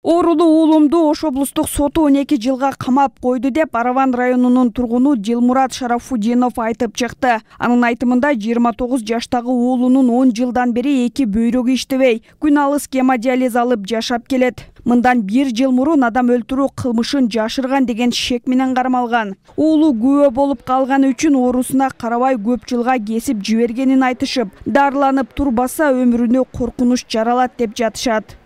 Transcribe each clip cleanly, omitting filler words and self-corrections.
Оорулуу уулумду Ош облустук соту 12 жылга камап койду деп Араван районунун тургуну Дилмурат Шарафудинов айтып чыкты. Анын айтымында 29 жаштагы уулунун 10 жылдан бери эки бөйрөгү иштебей, күн алыс гемодиализ алып жашап келет. Мындан 1 жыл мурун адам өлтүрүү кылмышын жашырган деген шек менен кармалган. Уулу күбө болуп калганы үчүн оорусуна карабай көп жылга кесип жибергенин айтышып, дарыланып турбаса өмүрүнө коркунуч жаралат деп жатышат.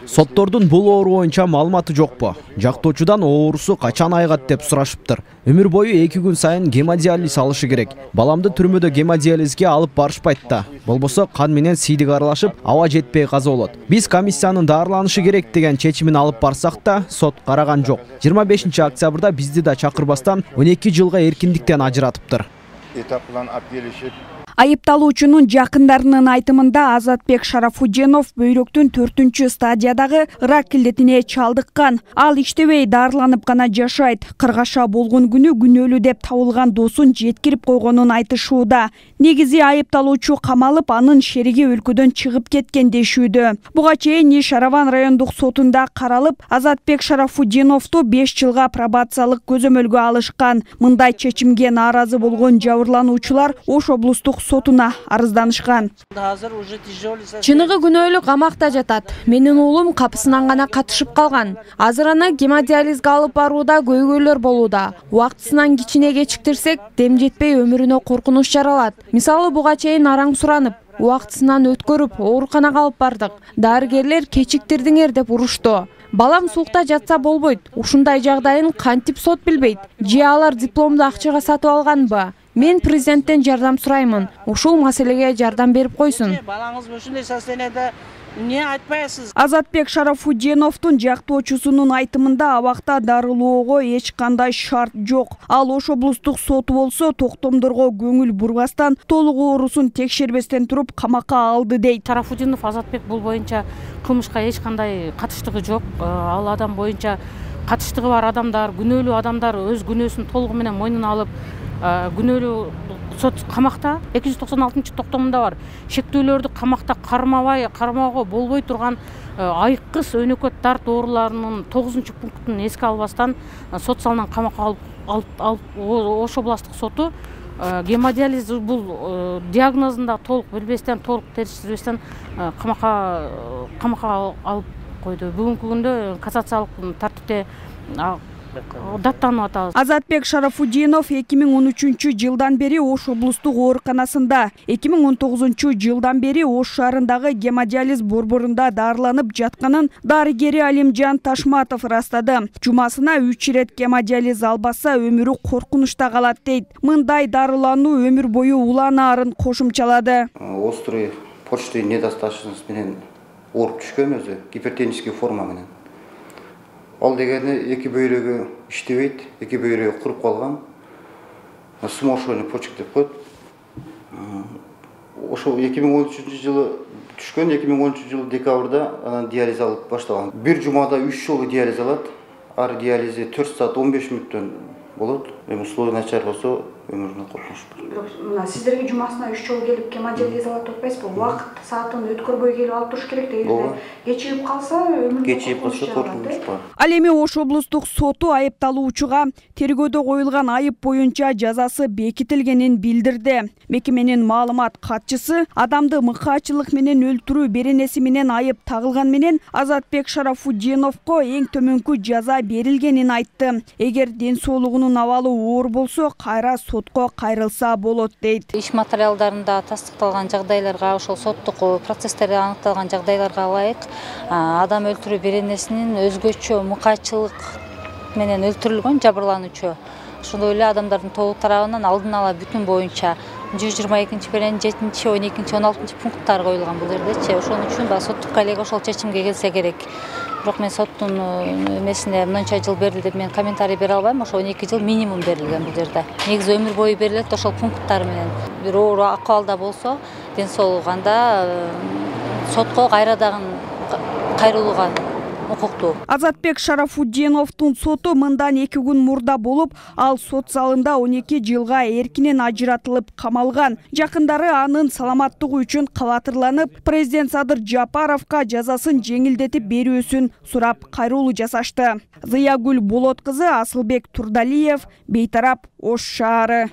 Соттордун бул оору боюнча маалыматы жокпу? Жактоочудан оорусу качан айгат деп сурашыптыр. Өмүр бою 2 күн сайын гемодиализ алышы керек. Баламды түрмөдө гемодиализге алып барышпайт да. Болбосо кан менен сийдик аралашып, аба жетпей каза болот. Биз комиссиянын дарыланышы керек деген чечимин алып барсак да, сот караган жок. 25 октябрда бизди да чакырбастан 12 жылга эркиндиктен ажыратыптыр. Айыпталуучунун жакындарынын айтымында Азатбек Шарафудинов бөйрөктүн 4-чү стадиядагы рак илдетине чалдыккан. Ал иштебей дарыланып гана жашайт. Кыргаша болгон күнү күнөөлүү деп табылган досун жеткирип койгонун айтышууда. Негизи айыпталуучу камалып, анын шериги өлкөдөн чыгып кеткен дешүүдө. Буга чейин иш Араван райондук сотунда каралып, Азатбек Шарафудиновду 5 жылга пробациялык көзөмөлгө алышкан. Мындай чечимге нааразы болгон жабырлануучулар Ош облустук сотуна арызданышкан. Чыныгы күнөөлүү камакта жатат. Менин уулум капысынан гана катышып калган. Азыр аны гемодиализге алып барууда көйгөйлөр болууда. Убактысынан кичине кечиктирсек, дем жетпей өмүрүнө коркунуч жаралат. Мисалы буга чейин араң суранып, убактысынан өткөрүп, ооруканага алып бардык. Дарыгерлер кечиктирдиңер деп урушту. Балам суукта жатса болбойт. Ушундай жагдайын кантип сот билбейт? Же алар дипломду акчага сатып алганбы? Мен президенттен жардам сураймын. Ушул маселеге жардам берип койсун. Балаңыз ушундай состояниеде эмне айтпайсыз? Азатбек Шарафудиновдун жактоочусунун айтымында абакта дарылоого эч кандай шарт жок. Ал Ош облустук соту болсо токтомдорго көңүл бурбастан, толук оорусун текшербестен туруп камакка алды дейт. Шарафудинов Азатбек бул боюнча кылмышка эч кандай катыштыгы жок. Ал адам боюнча катыштыгы бар адамдар, күнөөлүү адамдар өз күнөөсүн толугу менен мойнуна алып, күнөөлүү сот камакта 296 токтомунда бар. Шектүүлөрдү камакта кармоого болбой турган айкыз өнөкөт дарт ооруларынын 9 пунктун эске албастан сот салынан камакка алып Ош областык соту гемодиализ бул диагнозун да толук билбестен, толук териштирбестен камакка алып койду. Бүгүнкү күндө кассациялык тартипте даттанып атабыз. Азатбек Шарафудинов 2013 жылдан бери Ош облустук ооруканасында, 2019 жылдан бери Ош шаарындагы гемодиализ борборунда дарыланып жатканын дарыгери Алимжан Ташматов ырастады. Жумасына 3 ирет гемодиализ албаса өмүрү коркунучта калат дейт. Мындай дарылануу өмүр бою уланаарын кошумчалады. Острый почечный недостаточность менен ооруп түшкөн өзү, гипертензивдик форма менен. Ал дегени эки бөйрөгү иштебейт, эки бөйрөгү куруп калган. Смошенный почек деп коет. Ошо 2013 жылы түшкөн, 2013 жылы декабрда анан диализ алып баштаган. Бир жумада 3 жолу диализ алат. Ар диализи 4 саат 15 мүнөттөн болот. Эми условия начар болсо өмүрүнө коркунуч бар. Бирок сиздерге жумасына 3 жолу келип гемодиализ алат деп атпайсызбы? Убакыт саатын өткөрбөй келип алып туруш керек дегенде кечигип калса өмүрүнө коркунуч бар. Ал эми Ош облустук соту айыпталуучуга тергөөдө коюлган айып боюнча жазасы бекитилгенин билдирди. Мекеменин маалымат катчысы адамды мыкаачылык менен өлтүрүү беренеси менен айып тагылган менен Азатбек Шарафудиновго эң төмөнкү жаза берилгенин айтты. Эгер ден соолугунун абалы оор болсо, кайра сотко кайрылса болот дейт. Иш материалдарында тастыкталган жагдайларга, ошол соттук процесстерде аныкталган жагдайларга ылайык адам өлтүрүү беренесинин өзгөчө мыкаачылык менен өлтүрүлгөн жабырлануучу. Ошондой эле адамдардын тобу тарабынан алдын ала бүтүн боюнча 122 берен 7, 12, 16 пункттар коюлган бул жердечи. Ошон үчүн соттук коллегия ошол чечимге келсе керек. Бирок мен соттун эмесине мынча жыл берилди деп мен комментарий бере албайм. Ошо 12 жыл минимум берилген бул жерде. Негизи өмүр бою берилет ошол пункттар менен. Бир оор акыбалда болсо, ден соолугу анда сотко кайрадан кайрылууга укуктуу. Азатбек Шарафутдиновдун соту мындан 2 күн мурда болуп, ал сот залында 12 жылга эркинен ажыратылып камалган. Жакындары анын саламаттыгы үчүн кабатырланып, президент Садыр Жапаровго жазасын жеңилдетип берүүсүн сурап кайрылуу жасашты. Зыягүл Болот кызы, Асылбек Турдалиев, Бейтарап, Ош шаары.